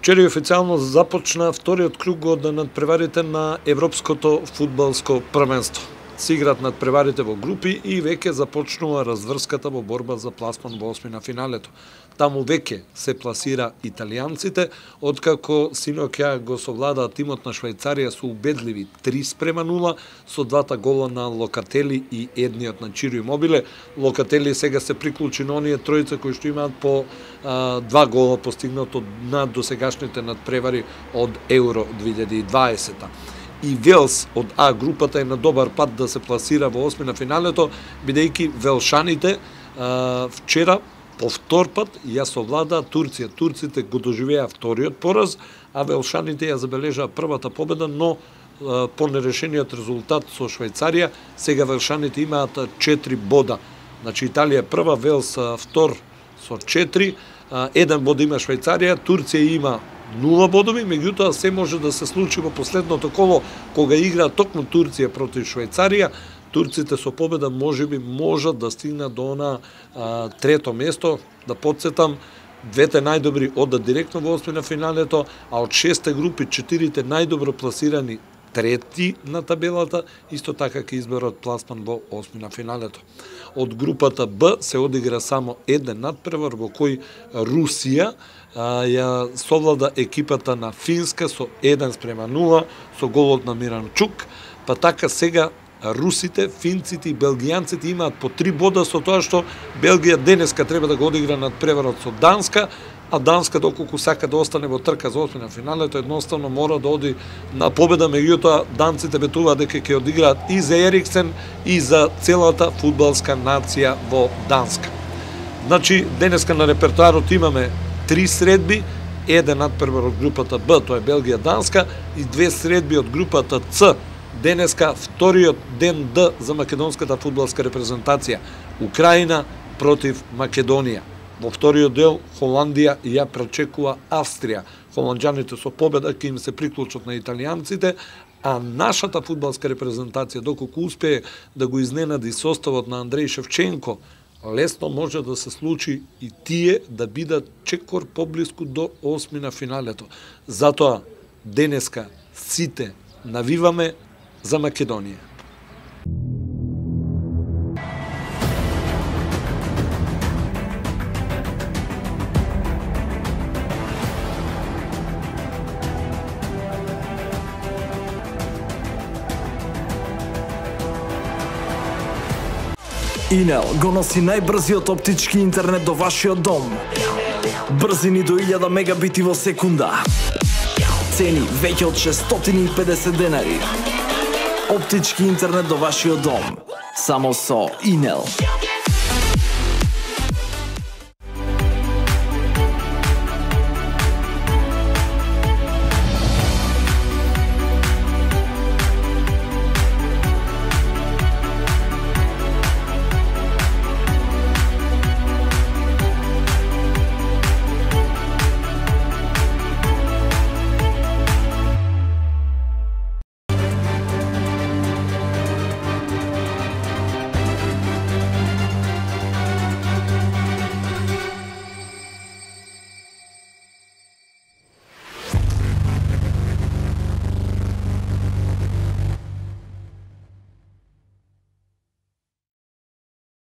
Вчера официјално започна вториот круг од надпреварите на Европското фудбалско првенство. Се играат надпреварите во групи и веќе започнува разврската во борба за пласман во осми на финалето. Таму веќе се пласира италијанците, откако синоќа го совладаа тимот на Швајцарија со убедливи 3:0 со двата гола на Локатели и едниот на Чиро Имобиле. Локатели сега се приклучи на оние тројца кои што имаат по два гола постигнато на досегашните надпревари од Евро 2020. И Велс од А групата е на добар пат да се пласира во осми на финалето, бидејќи велшаните вчера по втор пат ја совладаа Турција. Турците го доживеа вториот пораз, а велшаните ја забележаа првата победа, но по нерешениот резултат со Швајцарија, сега велшаните имаат 4 бода. Значи Италија прва, Велс втор со 4, 1 bod има Швајцарија, Турција има 0 бодови, меѓутоа се може да се случи во последното коло кога игра токму Турција против Швајцарија. Турците со победа можеби можат да стигнат до трето место. Да подсетам, двете најдобри одат директно во осми на финалето, а од 6 групи 4 најдобро пласирани трети на табелата, исто така ќе изберат пласман во осми на финалето. Од групата Б се одигра само еден надпревар во кој Русија ја совлада екипата на Финска со 1:0 со голот на Миранчук, па така сега русите, финците и белгијанците имаат по 3 бода со тоа што Белгија денеска треба да го одигра надпреварот со Данска, а Данска доколку сака да остане во трка за осми на финалето, едноставно мора да оди на победа, меѓутоа данците ветуваат дека ќе одиграат и за Ериксен и за целата фудбалска нација во Данска. Значи, денеска на репертоарот имаме 3 средби, еден надпревар од групата Б, тоа е Белгија-Данска, и 2 средби од групата С. Денеска вториот ден Д за македонската фудбалска репрезентација, Украина против Македонија. Во вториот дел Холандија ја пречекува Австрија. Холанџаните со победа ќе им се приклучат на италијанците, а нашата фудбалска репрезентација, доколку успее да го изненади составот на Андреј Шевченко, лесно може да се случи и тие да бидат чекор поблиску до осми на финалето. Затоа денеска сите навиваме за Македонија. Инел го носи најбрзиот оптички интернет до вашиот дом. Брзини до 1000 мегабити во секунда. Цени веќе од 650 денари. Оптички интернет до вашиот дом. Само со Инел.